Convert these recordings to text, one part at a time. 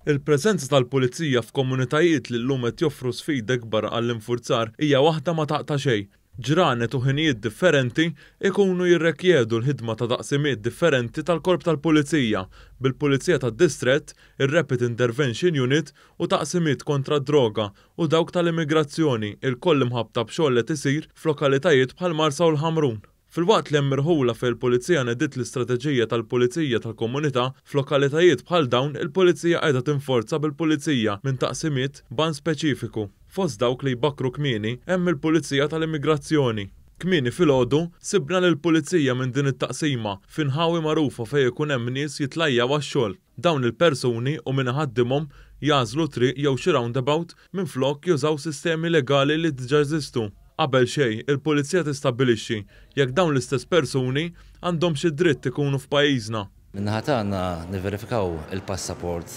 Il-preżenza tal-Pulizija f'komunitajiet li llum qed joffru sfida ikbar għall-infurzar hija waħda ma taqta' xejn. Ġranet u ħinijiet differenti jkunu jirrekjedu l-ħidma ta' taqsimiet differenti tal-Korp tal-Pulizija, bil-Pulizija tad-Distrett, ir-Rapid Intervention Unit u taqsimiet kontra d-droga u dawk tal-immigrazzjoni ilkoll imħabbta b'xogħol li qed isir f'lokalitajiet bħall-Marsa u l-Ħamrun. Filwaqt li hemm irħula fejn il-Pulizija nediet l-istrateġija tal-Pulizija tal-Komunità, f'lokalitajiet bħal dawn il-Pulizija qiegħda tinforza bil-Pulizija minn taqsimiet b'għan speċifiku. Fost dawk li jbakkru kmieni hemm il-Pulizija tal-Immigrazzjoni. Kmieni filgħodu sibna lill-Pulizija minn din it-taqsima f'inħawi magħrufa fejn ikun hemm nies jitlajjaw għax-xogħol. Dawn il-persuni u min iħaddimhom jagħżlu triq jew xi roundabout minflok jużaw sistemi legali li diġà jeżistu. Qabel xejn, il-Pulizija tistabbilixxi jekk dawn l-istess persuni għandhomx id-dritt ikunu f'pajjiżna. Min-naħa tagħna nivverifikaw il-passaport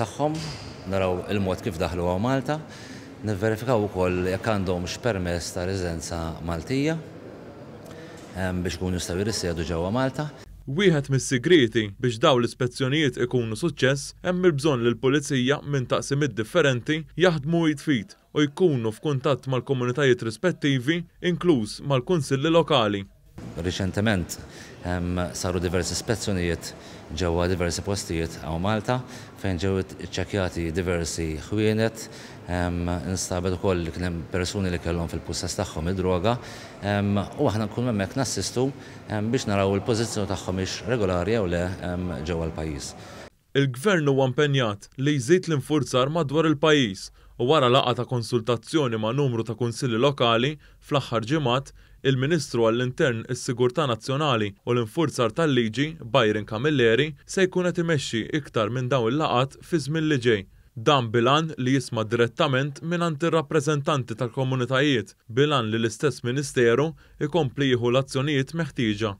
tagħhom, naraw il-mod kif daħlu hawn Malta, nivverifikaw ukoll jekk għandhomx permess ta' residenza Maltija biex ikunu jistgħu jirrisjedu ġewwa Malta. Wieħed mis-sigrieti biex dawn l-ispezzjonijiet ikunu suċċess hemm il-bżonn li l-Pulizija minn taqsimiet differenti jaħdmu id f'id u jkunu f'kuntatt mal-komunitajiet rispettivi, inkluż mal-kunsilli lokali. Riċentement saru diversi spezzjonijiet ġewwa diversi postijiet hawn Malta fejn ġew iċċekkjati diversi ħwienet, instabet ukoll li kien hemm persuni li kellhom fil-pussess tagħhom id-droga u aħna nkunu hemmhekk nassistu biex naraw il-pożizzjoni tagħhom hix regolari jew le ġewwa l-pajjiż. Il-Gvern huwa impenjat li jżid l-infurzar madwar il-pajjiż u wara laqgħa ta' konsultazzjoni ma' numru ta' kunsilli lokali fl-aħħar ġimgħat, il-Ministru għall-Intern, is-Sigurtà Nazzjonali u l-Infurzar tal-Liġi, Byron Camilleri, se jkun qed imexxi iktar minn dawn il-laqgħat fiż-żmien li ġej. Dan bil-għan li jisma' direttament mingħand ir-rappreżentanti tal-komunitajiet bil-għan li l-istess Ministeru jkompli jieħu l-azzjonijiet meħtieġa.